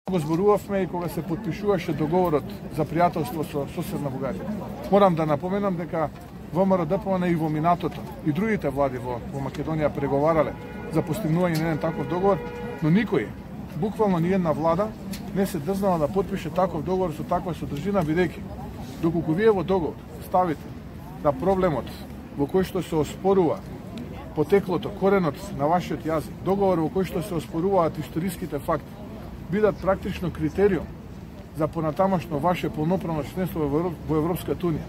Го зборувавме и кога се потпишуваше договорот за пријателство со соседна Бугарија. Морам да напоменам дека ВМРО-ДПМН и во минатото и другите влади во Македонија преговарале за постигнување на еден таков договор, но никој, буквално ни една влада, не се дрзнала да потпише таков договор со таква содржина, бидејќи доколку вие во договор ставите да проблемот во кој што се оспорува потеклото, коренот на вашиот јазик, договор во кој што се оспоруваат историските факти, бидат практично критериум за понатамашно ваше полноправно членство во Европската унија.